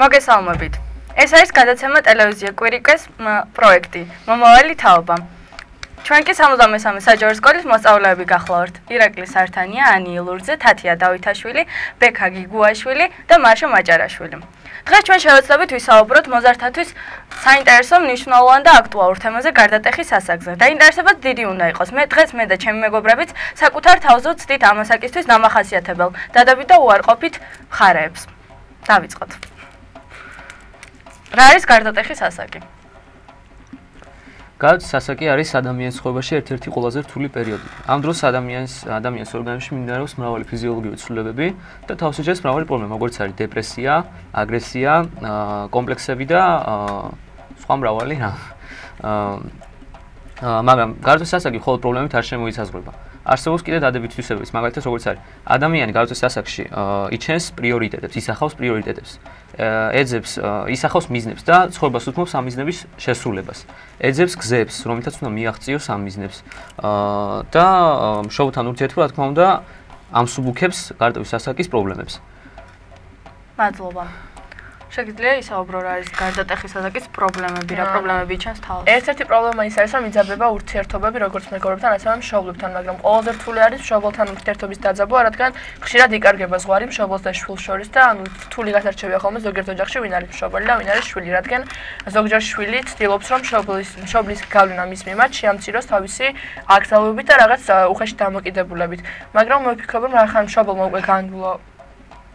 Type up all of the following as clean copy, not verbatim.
მოგესალმებით. ეს არის გადაცემა ტელევიზია კვირიკეს პროექტი. მომავალი თაობა. ჩვენ კი 73 საჯარო სკოლის მოსწავლეები გახლავართ. ირაკლი სართანია, ანი ილურძე, თათია დავითაშვილი, ბექა გიგუაშვილი და მარშა მაჭარაშვილი. დღეს ჩვენ შევეცდებით ვისაუბროთ მოზარდთათვის საინტერესო, მნიშვნელოვან და აქტუალურ თემაზე გარდატეხის ასაკზე. დაინტერესებაც დიდი უნდა იყოს. დღეს მე და ჩემი მეგობრებიც საკუთარ თავზე ვცდით ამასაკისთვის დამახასიათებელ, დადებით და უარყოფით მხარეებს. დავიწყოთ. რა არის გარდატეხის ასაკი? გარდატეხის ასაკი არის ადამიანის ცხოვრებაში ერთ-ერთი ყველაზე რთული პერიოდი. ამ დროს ადამიანის ორგანიზმში მიმდინარეობს მრავალი ფიზიოლოგიური ცვლილებები და თავს იჭერს მრავალი პრობლემა, როგორც არის დეპრესია, აგრესია, კომპლექსები და სხვა მრავალი რამ. მაგრამ გარდატეხის ასაკი მხოლოდ პრობლემებით არ შემოიცაზღვრება. არსებობს კიდევ დადებითი თვისებებიც, მაგალითად როგორც არის ადამიანი გარდატეხის ასაკში იჩენს პრიორიტეტებს, ისახავს პრიორიტეტებს. ეძებს ისახავს მიზნებს და ცხოვრებას უთმობს ამ მიზნების შესრულებას. ეძებს გზებს, რომელთაც უნდა მიაღწიოს ამ მიზნებს. და მშობელთან ურთიერთობა, რა თქმა უნდა, ამსუბუქებს გარდატეხის ასაკის პრობლემებს. მადლობა. შეგიძლია ისაუბრო რა არის გარდატეხის ასაკის პრობლემები, რა პრობლემები იჩენს თავს? ერთ-ერთი პრობლემა ის არის, რომ იძაბება ურთიერთობები როგორც მეგობრებთან, ასევე მშობლებთან, მაგრამ ყველაზე რთული არის მშობელთან ურთიერთობის დაძაბვა, რადგან ხშირად იკარგება ზღვარი მშობელს და შვილს შორის და რთული გასარჩევია ხოლმე ზოგიერთ ოჯახში ვინ არის მშობელი და ვინ არის შვილი, რადგან ზოგჯერ შვილი ცდილობს, რომ მშობლის გავლენა მის მიმართ შეამციროს თავისი აკრძალვებით და რაღაც უხეში დამოკიდებულებით. მაგრამ მე ვფიქრობ, რომ რახან მშობელმა უკვე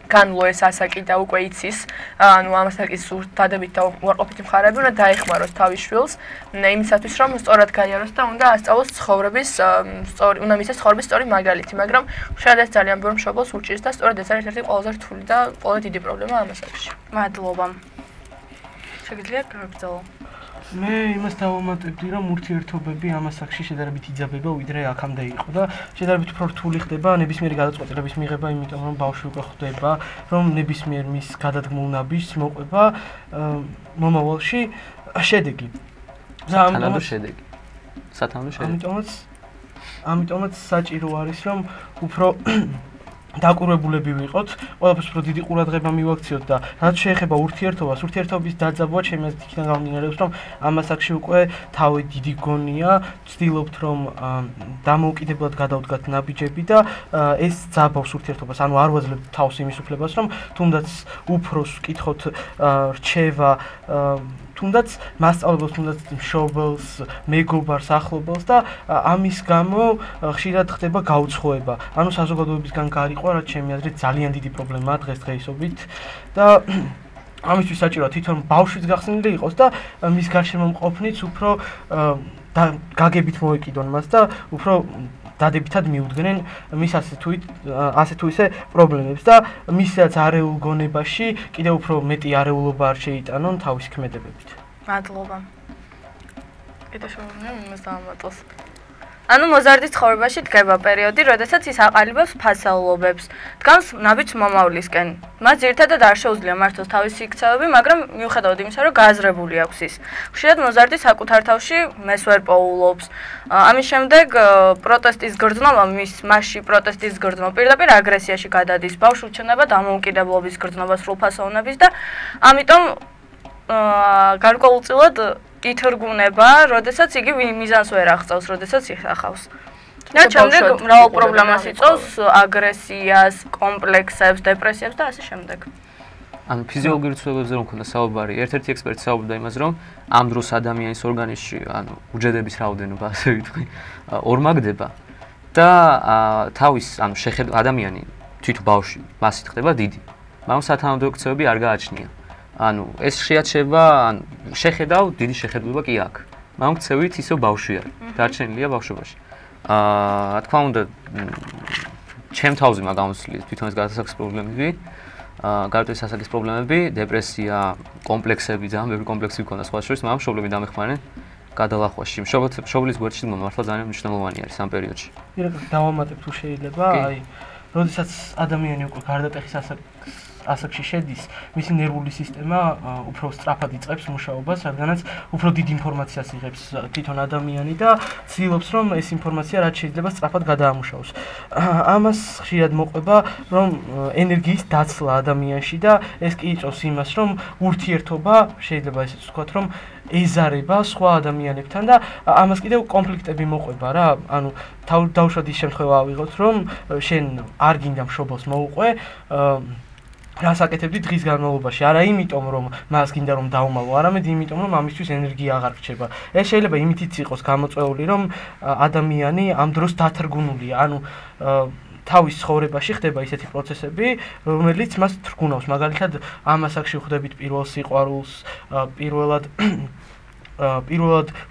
განვლო ეს ასაკი და უკვე იცის, ანუ ამ ასაკის დადებით და უარყოფითი მხარეები უნდა დაეხმაროს თავის შვილს, იმისათვის რომ სწორად გაიაროს და უნდა ასწავლოს ცხოვრების უნდა მისცეს ცხოვრების სწორი მაგალითი, მაგრამ შეიძლება ეს ძალიან ბევრ მშობელს უჭირს და სწორედ ეს არის ერთ-ერთი ყველაზე რთული და ყველაზე დიდი პრობლემა ამ ასაკში. მადლობა. შეგიძლია გაგრძელო? მე იმას დავამატებდი, რომ ურთიერთობები ამ ასაკში შედარებით იძაბება, ვიდრე აქამდე იყო და შედარებით უფრო რთული ხდება ნებისმიერი გადაწყვეტილების მიღება, იმიტომ რომ ბავშვი უკვე ხვდება, რომ ნებისმიერ მის გადადგმულ ნაბიჯს მოყვება მომავალში შედეგი. სათანადო შედეგი. სათანადო შედეგი. ამიტომაც საჭირო არის, რომ უფრო დაკურებულები ვიყოთ, ყველაფერს უფრო დიდი ყურადღება მივაქციოთ და რაც შეეხება ურთიერთობას, ურთიერთობის დაძაბვა ჩემი აზრით იქიდან გამომდინარეობს, რომ ამ ასაკში უკვე თავი დიდი გონია, ვცდილობთ რომ დამოუკიდებლად გადავდგათ ნაბიჯები და ეს ძაბავს ურთიერთობას, ანუ არ ვაძლევთ თავს იმის უფლებას, რომ თუნდაც უფროს ვკითხოთ რჩევა თუნდაც მასწავლებელს, თუნდაც მშობელს, მეგობარს, ახლობელს და ამის გამო ხშირად ხდება გაუცხოება. ანუ საზოგადოებისგან გარიყვა, რაც ჩემი აზრით ძალიან დიდი პრობლემაა დღესდღეობით და ამისთვის საჭიროა თვითონ ბავშვიც გახსნილი იყოს და მის გარშემო მყოფნიც უფრო გაგებით მოეკიდონ მას და უფრო დადებითად მიუდგნენ მის ასე თუ ისე პრობლემებს და მისაც არეულ გონებაში კიდევ უფრო მეტი არეულობა არ შეიტანონ თავის ქმედებებით. მადლობა. კიდევ შევამოწმე იმას დავამატოს. ანუ მოზარდის ცხოვრებაში დგება პერიოდი, როდესაც ის აყალიბებს ფასეულობებს, დგამს ნაბიჯს მომავლისკენ. მას ძირითადად არ შეუძლია მართოს თავისი იქცევები, მაგრამ მიუხედავად იმისა, რომ გააზრებული აქვს ის. ხშირად მოზარდი საკუთარ თავში მეს ვერ პოულობს. ამის შემდეგ პროტესტის გრძნობა, მასში პროტესტის გრძნობა პირდაპირ აგრესიაში გადადის. ბავშვი ჩნდება დამოუკიდებლობის გრძნობა, სრულფასოვნების და ამიტომ გარკვეულწილად ითრგუნება, როდესაც იგი მიზანს ვერ აღწევს, როდესაც იხახავს. და შემდეგ მრავალ პრობლემას იწვევს, აგრესიას, კომპლექსებს, დეპრესიებს და ასე შემდეგ. ანუ ფიზიოლოგიური ცვლილებებზე რომ ქონდა საუბარი, ერთ-ერთი ექსპერტი საუბრობდა იმას, რომ ამ დროს ადამიანის ორგანიზმში, ანუ უჯრედების რაოდენობა, ასე ვიტყვი, ორმაგდება და თავის, ანუ ადამიანი თვით ბავშვი მასით ხდება დიდი, მაგრამ სათანადო ექცევები არ გააჩნია. ანუ ეს შეაჩება, ანუ შეხედავ დიდი შეხედულება კი აქვს. მაგრამ ქცევით ისევ ბავშვი არის. დარჩენილია ბავშვობაში. რა თქმა უნდა, ჩემ თავზე მაგამოსვლით თვითონ ეს გადასახადის პრობლემები, გარდატეხის ასაკის პრობლემები, დეპრესია, კომპლექსები, ძალიან ბევრი კომპლექსი მქონდა სხვა შორის, მაგრამ მშობლები დამეხმარნენ გადალახვაში. მშობლის გვერდში დგომა მართლა ძალიან მნიშვნელოვანი არის ამ პერიოდში. ირაკლი, დავამატებ თუ შეიძლება, აი, როდესაც ადამიანი უკვე გარდატეხის ასაკს ასაკში შედის, მისი ნერვული სისტემა უფრო სწრაფად იწყებს მუშაობას, რადგანაც უფრო დიდ ინფორმაციას იღებს თვითონ ადამიანი და ცდილობს, რომ ეს ინფორმაცია რაც შეიძლება სწრაფად გადაამუშავოს. ამას ხშირად მოყვება, რომ ენერგიის დაცლა ადამიანში და ეს კი იწვევს იმას, რომ ურთიერთობა შეიძლება ესეც ვთქვათ, რომ ეზარება სხვა ადამიანებთან და ამას კიდევ კონფლიქტები მოყვება რა. ანუ დავუშვათ ის შემთხვევა ავიღოთ, რომ შენ არ გინდა მშობელს მოუყვე, რას აკეთებდი დღის განმავლობაში? არა იმიტომ, რომ მას გინდა რომ დაუმალო, არამედ იმიტომ, რომ ამისთვის ენერგია აღარ რჩება. ეს შეიძლება იმითიც იყოს გამოწვეული, რომ ადამიანი ამ დროს დათრგუნულია, ანუ თავის ცხოვრებაში ხდება ისეთი პროცესები, რომელიც მას თრგუნავს. მაგალითად, ამ ასაკში ხვდებით პირველ სიყვარულს, პირველად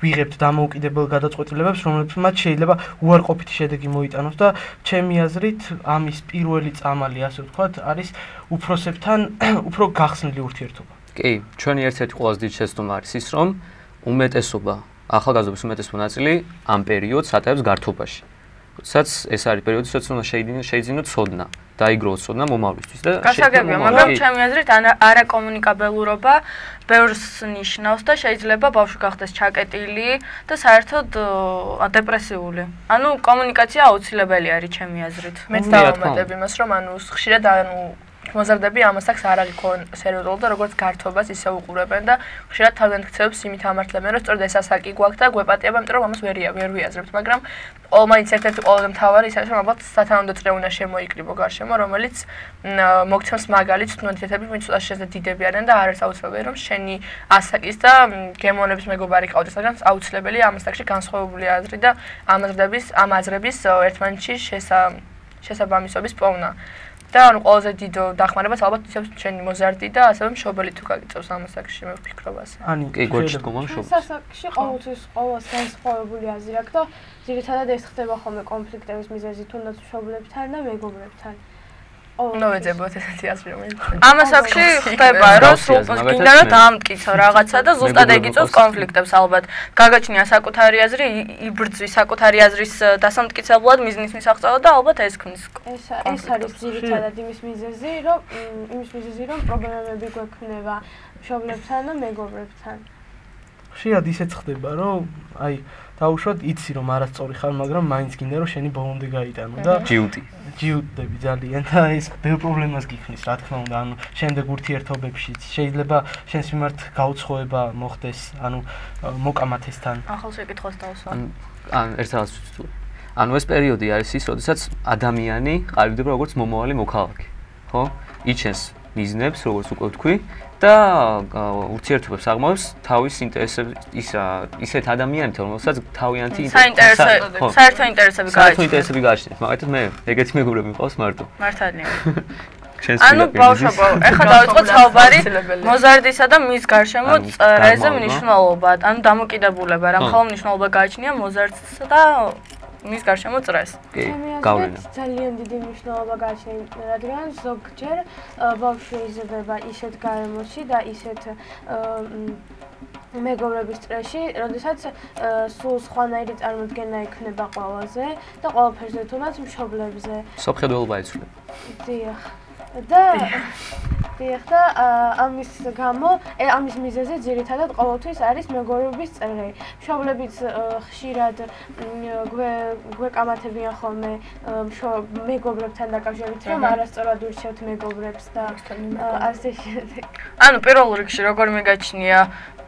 ვიღებთ დამოუკიდებელ გადაწყვეტილებებს, რომლებსაც შეიძლება უარყოფითი შედეგი მოიტანოს და ჩემი აზრით, ამის პირველი წამალი, ასე ვთქვათ, არის უფროსებთან უფრო გახსნილი ურთიერთობა. კი, ჩვენი ერთ-ერთი ყველაზე დიდი შეცდომა არის ის, რომ უმეტესობა, ახალგაზრდობის უმეტესობა ნაწილი ამ პერიოდს ატარებს გართობაში. როდესაც ეს არის პერიოდი, სადაც უნდა შეიძინოთ ცოდნა, დაიგროვოთ ცოდნა მომავლისთვის და გასაგებია, მაგრამ ჩემი აზრით არაკომუნიკაბელურობა ბევრს ნიშნავს და შეიძლება ბავშვი გახდეს ჩაკეტილი და საერთოდ დეპრესიული. ანუ კომუნიკაცია აუცილებელი არის ჩემი აზრით. მეც დავამატებ იმას, რომ ანუ ხშირად მოზარდები ამასაკს არ აღიქონ სერიოზულად და როგორც გართობას ისე უყურებენ და ხშირად თავდანტკიცებებს იმით ამართლებენ, რომ სწორედ ეს ასაკი გვაქვს და გვეპატიება, იმიტომ რომ ამას ვერ ვიაზრებთ, მაგრამ ყოველმაინც ერთ-ერთი ყველაზე მთავარი ის არის, რომ ალბათ სათანადო წრეუნა შემოიკრიბო გარშემო, რომელიც მოგცემს მაგალითს თუნდათეთები, ვინც ცოტა შეზე დიდები არიან და არ არის აუცილებელი, რომ შენი ასაკის და გემოვნების მეგობარი ყავდეს, მაგრამ აუცილებელია ამ ასაკში განსხვავებული აზრი და ამ აზრების ერთმანეთში შესაბამისობის პოვნა. და ანუ ყველაზე დიდ დახმარებას ალბათ იცავს ჩვენი მოზარდი და ასევე მშობელი თუ გაგიწევს ამ ასაკში მე ვფიქრობ ასე. ანუ კი გვერდში დგომა მშობელი. ასაკში ყოველთვის ყოველს განსხვავებული აზრი აქვს და ძირითადად ეს ხდება ხოლმე კონფლიქტების მიზეზი თუნდაც მშობლებთან და მეგობრებთან. ნოვეძებოთ ესეთი აზრი რომელიც ამ ასაკში ხდება, რომ გინდა რომ დაამტკიცო რაღაცა და ზუსტად ეგ იწვევს კონფლიქტებს ალბათ. გაგაჩნია საკუთარი აზრი, იბრძვის საკუთარი აზრის დასამტკიცებლად მიზნის მისაღწევად და ალბათ ეს ქმნის. ეს არის ძირითადად იმის მიზეზი, რომ პრობლემები გვექნება მშობლებთან და მეგობრებთან. ხშირად ისეც ხდება, რომ აი დაუშვათ იცი რომ არასწორი ხარ, მაგრამ მაინც გინდა რომ შენი ბოლომდე გაიტანო და ჯიუტდები ძალიან და ეს ბევრ პრობლემას გიქმნის, რა თქმა უნდა, ანუ შემდეგ ურთიერთობებშიც შეიძლება შენს მიმართ გაუცხოება მოხდეს, ანუ მოკამათესთან. ახალ შეკითხვას დავსვა. ან ერთ რაღაც ვთქვი. ანუ ეს პერიოდი არის ის, როდესაც ადამიანი ყალიბდება როგორც მომავალი მოქალაქე, ხო? იჩენს მიზნებს, როგორც უკვე ვთქვი. და ურთიერთობებს აღმოჩნს თავის ინტერესებს ისეთ ადამიანებთან, რომელსაც თავიანთი საერთო ინტერესები გააჩნიათ. მაგალითად მე ეგეთი მეგობრები მყავს მარტო. მართალია. ანუ ბავშვობა, ეხლა დავიწყოთ საუბარი მოზარდისა და მის გარშემო წრეზე მნიშვნელობად, ანუ დამოკიდებულება, რა მხოლოდ მნიშვნელობა გააჩნია მოზარდს და მის გარშემო წრეს. კი, გავლენა. ძალიან დიდი მნიშვნელობა გააჩნია, რადგან ზოგჯერ ბავშვი იზრდება ისეთ გარემოში და ისეთ მეგობრების წრეში, როდესაც სულ სხვანაირი წარმოდგენა ექნება ყველაზე და ყველაფერზე თუნდაც მშობლებზე. სოფხედველობა იცვლება. დიახ. და ამის გამო, ამის მიზეზი ძირითადად ყოველთვის არის მეგობრობის წრე. მშობლებიც ხშირად გვეკამათებიან ხოლმე მეგობრებთან დაკავშირებით, რომ არასწორად ურჩევთ მეგობრებს და ასე შემდეგ. ანუ პირველ რიგში როგორ მიგაჩნია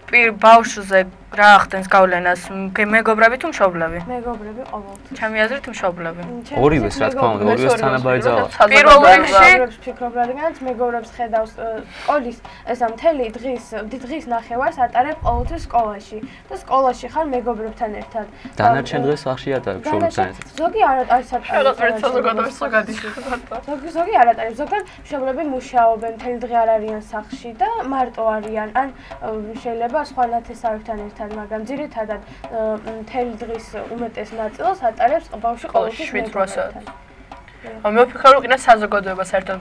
ბავშვზე რა ახდენს გავლენას, მეგობრები თუ მშობლები? მეგობრები ყოველთვის. ჩემი აზრით მშობლები. ორივეს რა თქმა უნდა, ორივეს თანაბარი ძალა. პირველ რიგში ვფიქრობ, რადგანაც მეგობრებს ხედავს სკოლის ესა მთელი დღის ნახევარს ატარებ ყოველთვის სკოლაში და სკოლაში ხარ მეგობრებთან ერთად. დანარჩენ დღეს სახში ატარებ მშობლებთან ერთად. ზოგი არ არის ზოგი არ ატარებს, ზოგან მშობლები მუშაობენ, მთელი დღე არ არიან სახლში და მარტო არიან, ან შეიძლება სხვა ნათესავებთან ერთად, მაგრამ ძირითადად მთელი დღის უმეტეს ნაწილს ატარებს ბავშვი ყოველთვის მეგობრებთან. მე ვფიქრობ, რომ კიდე საზოგადოება საერთოდ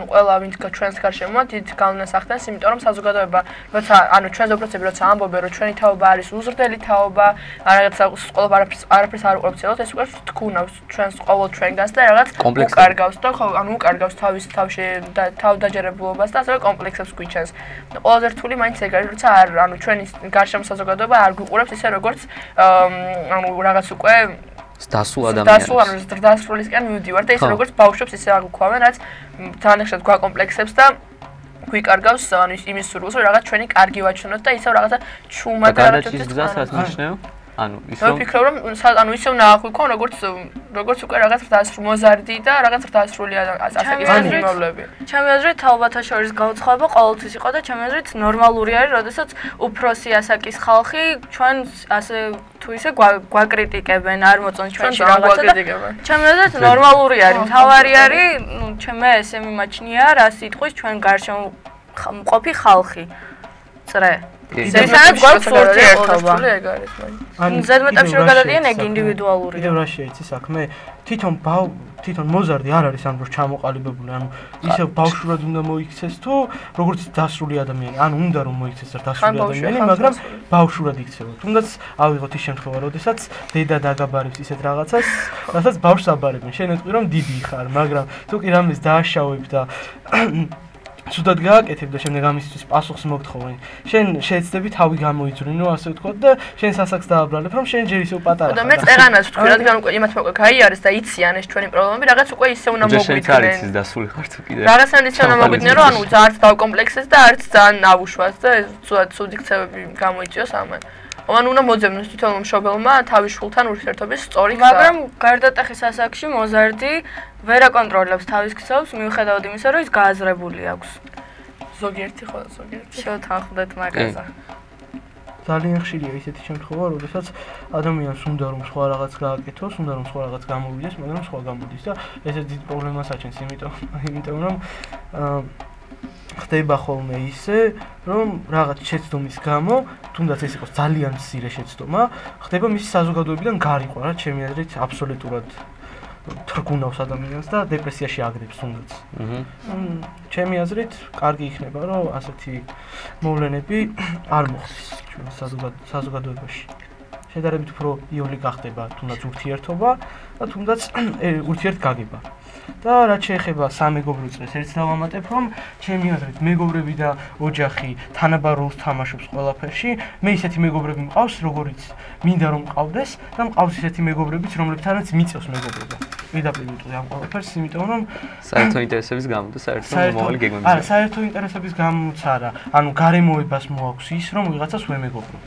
ყველა ვინც ჩვენს გარშემოა დიდ გავლენას ახდენს, იმიტომ რომ საზოგადოება როცა ჩვენს უპროცესები როცა ამბობენ, რომ ჩვენი თაობა არის უზრდელი თაობა, რაღაცა ყოველ არაფერს არ უყურებს целот, ეს უკვე თქუნავს ჩვენს ყოველ ჩვენგანს და რაღაც უკარგავს და ხო, უკარგავს თავის თავში და თავდაჯერებულობას და ასევე კომპლექსებს გვიჩენს. ყველაზე რთული მაინც ეგ არის, როცა ჩვენი გარშემო საზოგადოება არ გვიყურებს ისე როგორც რაღაც უკვე დასულ ადამიანებს. დასრულისკენ მივდივარ და ისე როგორც ბავშვებს ისე აგვიქვავენ, რაც ძალიან ხშირად გვაკომპლექსებს და გვიკარგავს იმის სურვილს, რომ რაღაც ჩვენი კარგი ვაჩვენოთ და ისევ რაღაცა ჩუმა და რაღაცის გზას რაც ნიშნავ? ისე ვფიქრობ, რომ ისე უნდა აღვიქვან, როგორც უკვე რაღაც მოზარდი და რაღაც დასრული ასაკის ჩემი აზრით თაობათა შორის გაუცხოება ყოველთვის იყო და ჩემი აზრით ნორმალური არის, როდესაც უფროსი ასაკის ხალხი ჩვენს ასე თუ ისე გვაკრიტიკებენ, არ მოწონს ჩვენში რაღაცა და ჩემი აზრით ნორმალური არის. მთავარი არის, ჩემე ესე მიმაჩნია, რა სიტყვის ჩვენ გარშემო მყოფი ხალხი. წრე ისაა გვაქვს ურთიერთობა. ზედმეტებში რო გადადიან ეგ ინდივიდუალურია. კიდევ რა შეიძლება საქმე? თვითონ მოზარდი არ არის ამ დროს ჩამოყალიბებული, ანუ ისევ ბავშვურად უნდა მოიქცეს თუ როგორც დასრული ადამიანი, ანუ უნდა რომ მოიქცეს დასრული ადამიანი, მაგრამ ბავშვურად იქცევა. თუნდაც ავიღოთ ის შემთხვევა, როდესაც დედა დაგაბარებს ისეთ რაღაცას, რასაც ბავშვს აბარებენ. შენ ეტყვი რომ დიდი ხარ, მაგრამ თუ კი რამეს დააშავებ და ცუდად გააკეთებ და შემდეგ ამისთვის პასუხს მოგთხოვენ. შენ შეეცდები თავი გამოიძვრინო, ასე ვთქვათ და შენ სასაკს დააბრალებ, რომ შენ ჯერ ისევ პატარა ხარ. და მე წეღანას ვთქვი, რადგან უკვე იმათ უკვე გაიარეს და იციან ეს ჩვენი პრობლემები, რაღაც უკვე ისე უნდა მოგვიდგნენ. შენ არის ის დასული ხარ თუ კიდე. რაღაცა ისე უნდა მოგვიდგნენ, რომ არც დავკომპლექსეს და არც ძალიან ავუშვას და ცუდი ქცევები გამოიწვიოს ამან. ან უნდა მოძებნოს თვითონ მშობელმა თავის შვილთან ურთიერთობის სწორი გზა. მაგრამ გარდატეხის ასაკში მოზარდი ვერ აკონტროლებს თავის ქცევებს, მიუხედავად იმისა, რომ ის გააზრებული აქვს. ზოგიერთი ხო, ზოგიერთი. შევთანხმდეთ მაგაზე. ძალიან ხშირია ისეთი შემთხვევა, როდესაც ადამიანს უნდა რომ სხვა რაღაც გააკეთოს, უნდა რომ სხვა რაღაც გამოვიდეს, მაგრამ სხვა გამოდის და ესეც დიდ პრობლემას აჩენს, იმიტომ რომ ხდება ხოლმე ისე, რომ რაღაც შეცდომის გამო, თუნდაც ეს იყოს ძალიან მცირე შეცდომა, ხდება მისი საზოგადოებიდან გარიყვა, რაც ჩემი აზრით აბსოლუტურად თრგუნავს ადამიანს და დეპრესიაში აგრებს თუნდაც. ჩემი აზრით, კარგი იქნება, რომ ასეთი მოვლენები არ მოხდეს ჩვენ საზოგადოებაში. შედარებით უფრო იოლი გახდება თუნდაც ურთიერთობა და თუნდაც ურთიერთგაგება. და რაც შეეხება სამეგობრო წრეს, ერთს დავამატებ, რომ ჩემი აზრით მეგობრები და ოჯახი თანაბარ როლს თამაშობს ყველაფერში. მე ისეთი მეგობრები მყავს, როგორიც მინდა რომ მყავდეს და მყავს ისეთი მეგობრებიც, რომლებთანაც მიწევს მეგობრობა. პირდაპირ ვიტყვი ამ ყველაფერს, იმიტომ რომ საერთო ინტერესების გამო და საერთო მომავალი გეგმების. არა, საერთო ინტერესების გამოც არა. ანუ გარემოებას მოაქვს ის, რომ ვიღაცას ვემეგობრო.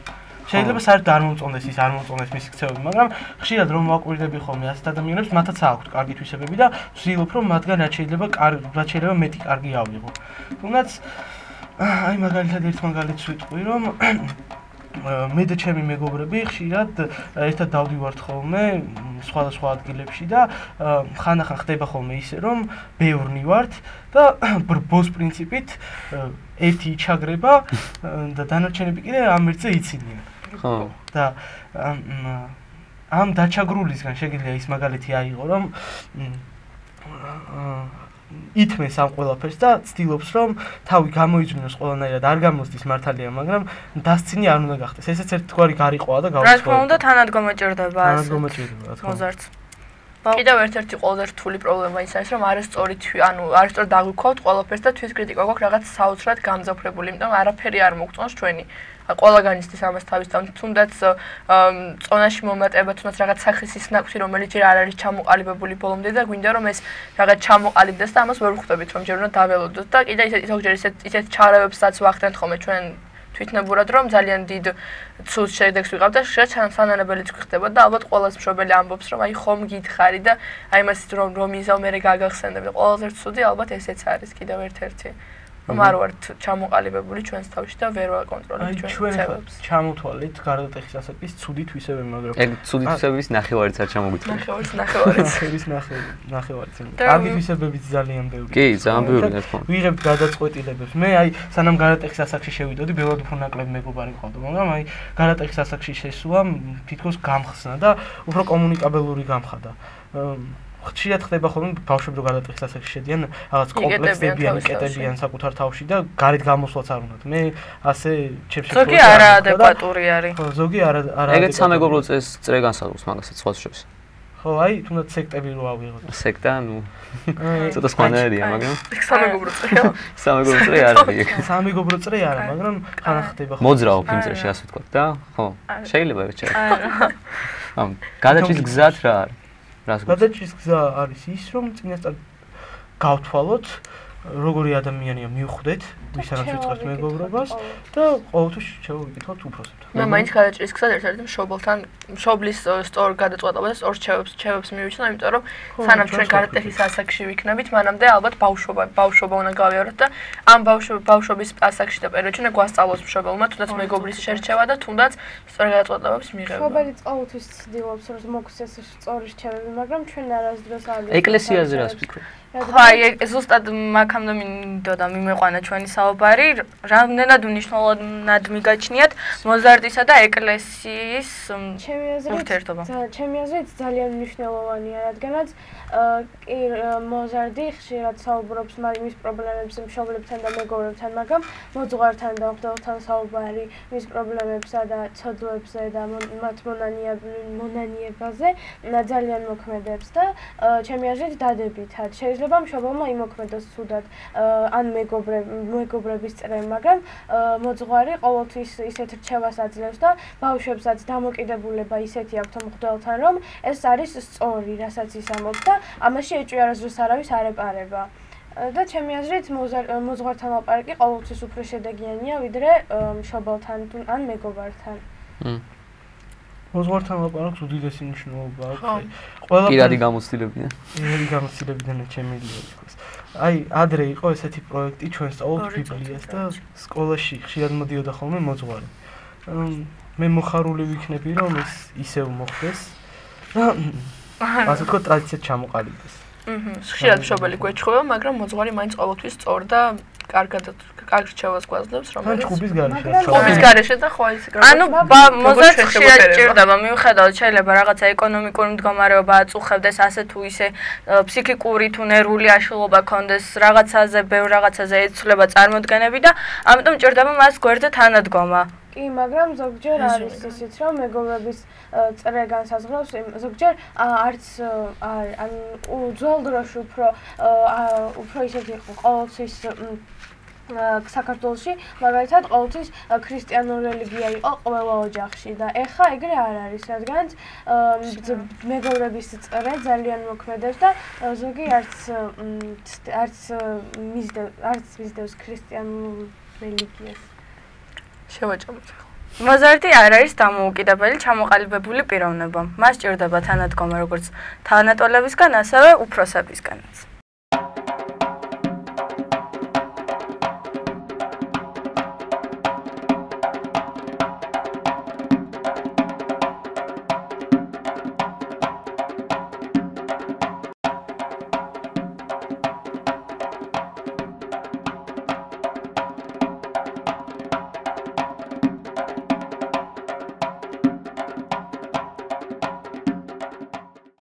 შეიძლება საერთოდ არ მომწონდეს ის, არ მომწონდეს მისი ქცევები, მაგრამ ხშირად რომ ვაკვირდები ხოლმე ასეთ ადამიანებს, მათაც აქვთ კარგი თვისებები და ვცდილობ რომ მათგან რაც შეიძლება მეტი კარგი ავიღო. თუნდაც აი მაგალითად ერთ მაგალითს ვიტყვი, რომ მე და ჩემი მეგობრები ხშირად ერთად დავდივართ ხოლმე სხვადასხვა ადგილებში და ხანდახან ხდება ხოლმე ისე, რომ ბევრნი ვართ და ბრბოს პრინციპით ერთი იჩაგრება და დანარჩენები კიდე ამ ერთზე იცინიან. ხო. და ამ დაჩაგრულისგან შეგიძლია ის მაგალითი აიღო, რომ ითმეს ამ ყველაფერს და ცდილობს რომ თავი გამოიძვნოს ყველანაირად არ გამოსდის მართალია, მაგრამ დასცინი არ უნდა გახდეს. ესეც ერთგვარი გარიყვაა და გაუცხოება. რა თქმა უნდა, თანადგომეჭერდება ასე. თანადგომეჭერდება, რა თქმა უნდა. მოზარდს. კიდევ ერთ-ერთი ყველაზე რთული პრობლემა ის არის, რომ არასწორი არასწორად დაგვიქვავთ ყველაფერს და თვითკრიტიკა გვაქვს რაღაც საოცრად გამძაფრებული, იმიტომ რომ არაფერი არ მოგწონს ჩვენი. ყველაგან ისთვის ამას თავის თუნდაც წონაში მომატება, თუნდაც რაღაც სახის ის ნაკვთი, რომელიც ჯერ არ არის ჩამოყალიბებული ბოლომდე და გვინდა რომ ეს რაღაც ჩამოყალიბდეს და ამას ვერ ვხვდებით, რომ ჯერ უნდა დაველოდოთ და კიდე ზოგჯერ ისეთ ჩარავებსაც ვახდენთ ხოლმე ჩვენ თვითნებურად, რომ ძალიან დიდ ცუდ შედეგს ვიღავ და შეიძლება სანანებელიც გვხდება და ალბათ ყოველას მშობელი ამბობს, რომ აი ხომ გითხარი და აი მას რომ იზავ მე გაგახსენებ და ყველაზე ცუდი ალბათ ესეც არის კიდევ ერთ-ერთი. რომ არ ვართ ჩამოყალიბებული ჩვენს თავში და ვერ ვაკონტროლებთ ჩვენს ცევებს. ჩამოთვალეთ გარდატეხის ასაკის ცუდი თვისებები, მაგრამ ეგ ცუდი თვისებების ნახევარიც არ ჩამოგიწევს. ნახევარიც. კარგი თვისებებიც ძალიან ბევრი. კი, ძალიან ბევრი რა თქმა უნდა. ვიღებთ გადაწყვეტილებებს. მე აი სანამ გარდატეხის ასაკში შევიდოდი, ბევრად უფრო ნაკლები მეგობარი მყავდა, მაგრამ აი გარდატეხის ასაკში შესულამ თითქოს გამხსნა და უფრო კომუნიკაბელური გამხადა. ხშირად ხდება ხოლმე ბავშვები რო გადატეხის ასაკში შედიან რაღაც კომპლექსებიან, იკეტებიან საკუთარ თავში და გარეთ გამოსვლაც არ უნდათ. მე ასე ჩემს შემთხვევაში ზოგი არაადეკვატური არის. ხო, ზოგი არა. ეგეც სამეგობრო წრე განსაზღვრავს მაგასაც სხვას შორის. ხო, აი, თუნდაც სექტები რო ავიღოთ. სექტა, ნუ ცოტა სხვანაირია, მაგრამ სამეგობრო წრეა. სამეგობრო წრე არ არის. სამეგობრო წრე არა, მაგრამ ხან ხდება ხო. მოძრაობ იმ წრეში ასე ვთქვათ და ხო, შეიძლება ეგ შეიძლება. ამ გადაჭრის გზად რა არის? რას გვაქვს? გადაჭრის გზა არის ის, რომ წინასწარ გავთვალოთ როგორი ადამიანია მივხვდეთ, ვისთანაც ვიწყებთ მეგობრობას და ყოველთვის შევიკითხოთ უფროსებთან. მე მაინც გადაჭრის გზად ერთ-ერთი მშობელთან მშობლის სწორ გადაწყვეტილებას და სწორ ჩევებს მივიჩნდა, იმიტომ რომ სანამ ჩვენ გადატეხის ასაკში ვიქნებით, მანამდე ალბათ ბავშვობა უნდა გავიაროთ და ამ ბავშვობის ასაკში და პერიოდში უნდა გვასწავლოს მშობელმა თუნდაც მეგობრის შერჩევა და თუნდაც სწორ გადაწყვეტილებების მიღება. მშობელი ყოველთვის ცდილობს რომ მოგვცეს სწორი რჩევები, მაგრამ ჩვენ არასდროს არ ეკლესიაზე რას ფიქრობ? ხო, აი ზუსტად მაგამდე მინდოდა მიმეყვანა ჩვენი საუბარი, რამდენად უნიშნელოვნად მიგაჩნიათ მოზარდისა და ეკლესიის ურთიერთობა. ჩემი აზრით ძალიან მნიშვნელოვანია, რადგანაც კი მოზარდი ხშირად საუბრობს მის პრობლემებზე მშობლებთან და მეგობრებთან, მაგრამ მოძღვართან და მღვდელთან საუბარი მის პრობლემებსა და ცოდვებზე და მათ მონანიებაზე ძალიან მოქმედებს და ჩემი აზრით დადებითად შეიძლება მშობელმა იმოქმედოს ცუდად ან მეგობრების წრემ, მაგრამ მოძღვარი ყოველთვის ისეთ რჩევას აძლევს და ბავშვებსაც დამოკიდებულება ისეთი აქვთ მღვდელთან, რომ ეს არის სწორი, რასაც ის ამბობს და ამაში ეჭვი არასდროს არავის არ ეპარება. და ჩემი აზრით მოძღვართან ლაპარაკი ყოველთვის უფრო შედეგიანია, ვიდრე მშობელთან ან მეგობართან. მოძღვართან ლაპარაკს უდიდესი მნიშვნელობა აქვს. პირადი გამოცდილებიდან. პირადი გამოცდილებიდან შემიძლია ითქვას. აი, ადრე იყო ესეთი პროექტი, ჩვენ სწავლობთ ბიბლიას და სკოლაში ხშირად მოდიოდა ხოლმე მოძღვარი. მე მოხარული ვიქნები, რომ ეს ისევ მოხდეს და ასე თქო ტრადიციად ჩამოყალიბდეს. ხშირად მშობელი გვეჩხუბება, მაგრამ მოძღვარი მაინც ყოველთვის სწორ და კარგ რჩევას გვაძლევს, რომელიც ხუბის გარეშე. ხუბის გარეშე და ხო ის ანუ მოზარდს ხშირად ჭირდება, მიუხედავად შეიძლება რაღაცა ეკონომიკური მდგომარეობა აწუხებდეს, ასე თუ ისე ფსიქიკური თუ ნერვული აშლილობა ქონდეს, რაღაცაზე, ბევრ რაღაცაზე ეცვლება წარმოდგენები და ამიტომ ჭირდება მას გვერდზე თანადგომა. კი, მაგრამ ზოგჯერ არის ისიც, რომ მეგობრების წრე განსაზღვრავს, ზოგჯერ არც ან ძველ დროში უფრო ისეთი იყო ყოველთვის საქართველოში, მაგალითად ყოველთვის ქრისტიანული რელიგია იყო ყველა ოჯახში და ეხა ეგრე არ არის, რადგანაც მეგობრების წრე ძალიან მოქმედებს და ზოგი არც მისდევს ქრისტიანულ რელიგიას. შევაჭამოთ. მოზარდი არ არის დამოუკიდებელი ჩამოყალიბებული პიროვნება. მას ჭირდება თანადგომა როგორც თანატოლებისგან, ასევე უფროსებისგანაც.